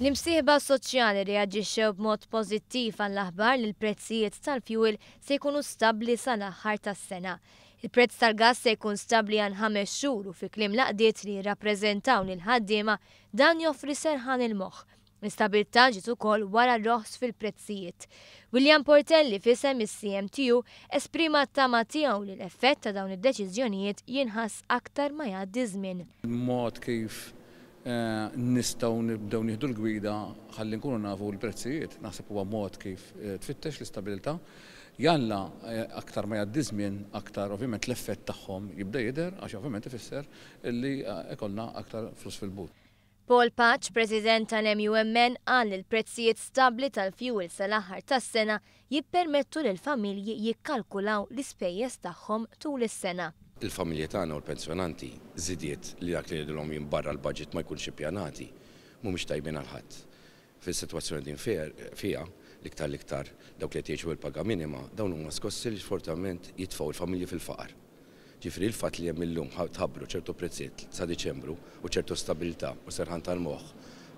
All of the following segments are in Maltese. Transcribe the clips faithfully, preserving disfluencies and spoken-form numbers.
L-imsieħba soċjali reaġixxew b'mod pożittiv għall-aħbar li l-prezzijiet tal-fuel se jkunu stabbli sal-aħħar tas-sena. Il-prezz tal-gas se jkun stabbli għal ħames xhur u fi kliem l-għaqdiet li jirrappreżentaw lill-ħaddiema dan joffri serħan il-moħħ. L-istabilità ġiet ukoll wara roħs fil-prezzijiet. William Portelli f'isem is-C M T U esprima t-tama tiegħu li l-effett ta' dawn id-deċiżjonijiet jinħass aktar ma jgħaddi żmien. Mod kif eh, nistgħu nibdew nieħdu l-gwida ħalli nkunu nafu l-prezzijiet, naħseb huwa mod kif eh, tfittex l-istabilità. Jalla eh, aktar ma jgħaddi żmien, aktar ovvjament l-effett tagħhom jibda jidher, għax ovvjament ifisser illi ikollna aktar flus fil-but. Paul Pace, President tal-M U M N, qal li l-prezzijiet stabli tal-fuel sal-aħħar tas-sena jippermettu lil familji jikkalkulaw l-ispejjeż tagħhom tul is-sena. Il-familji tagħna u l-pensjonanti, żidiet li dak li jgħidulhom barra l-budget, ma jkunx ippjanati, mhumiex tajbin għal ħadd. Fis-sitwazzjoni din fiha, l-iktar l-iktar dawk li jgħixu il-paga minima, dawn huma skossi li sfortunatament jitfgħu il-familji fil-faqar. Ġifieri il-fatt li hemm illum tħabbru ċertu prezzijiet sa Diċembru u ċertu stabilità u serħan tal-moħħ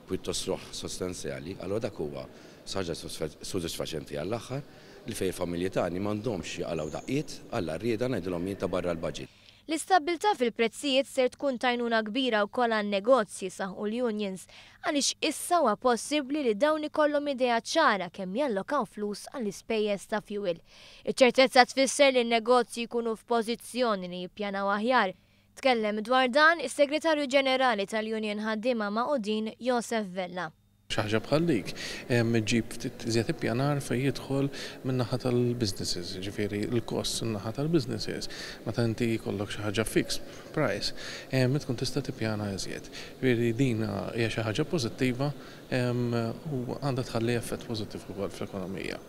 pjuttost roħ sostanzjali, allura dak huwa ħaġa sodisfaċenti għall-aħħar li fejn il-familji tagħni m'għandhomx jaqalgħu daqqiet għall rieda, ngħidilhom jien, ta' barra l-budget. L-istabbiltà fil-prezzijiet ser tkun t'għajnuna kbira wkoll għan-negozji, saħqu l-unions, għaliex issa huwa possibbli li dawn ikollhom idea ċara kemm jallokaw flus għall-ispejjeż ta' fuel. Iċ-ċertezza tfisser li n-negozji jkunu f'pożizzjoni li jippjanaw aħjar. Tkellem dwar dan is-Segretarju Ġenerali tal-Union Ħaddiema Magħqudin, Josef Vella. Xi ħaġa bħal dik ġib ftit iżjed ippjanar fejn jidħol min-naħa tal-businesses, ġifieri l-kost min-naħa tal-businesses. Meta inti jkollok xi ħaġa fixed price, tkun tista' tippjana iżjed. Ġifieri din hija xi ħaġa pożittiva u għandha tħalli effett pożittiv ukoll fl-ekonomija.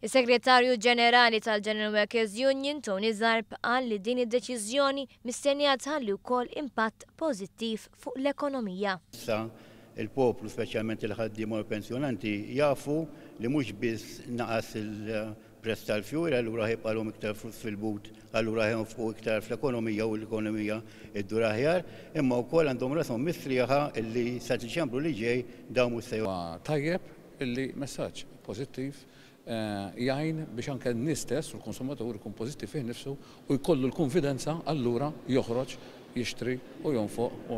Is-Segretarju Ġenerali tal-General Workers Union, Tony Zarb, qal li din id-deċiżjoni mistennija tħalli wkoll impatt pożittiv fuq l-ekonomija. Issa il-poplu, speċjalment il-ħaddiema u l-pensjonanti, jafu li mhux biss naqas il-prezz tal-fuel, allura ħa jibqagħlhom iktar flus fil-but, allura ħa jonfqu iktar fl-ekonomija u l-ekonomija iddur aħjar, imma wkoll għandhom rashom mistrieħa illi sa Diċembru li ġej dawn mhux se Tajjeb illi messaġġ pożittiv eh, jgħin biex anke n-nies stess u l-konsumatur ikun pożittiv fih nifsu u jkollu l-konfidenza, allura joħroġ jixtri u jonfoq.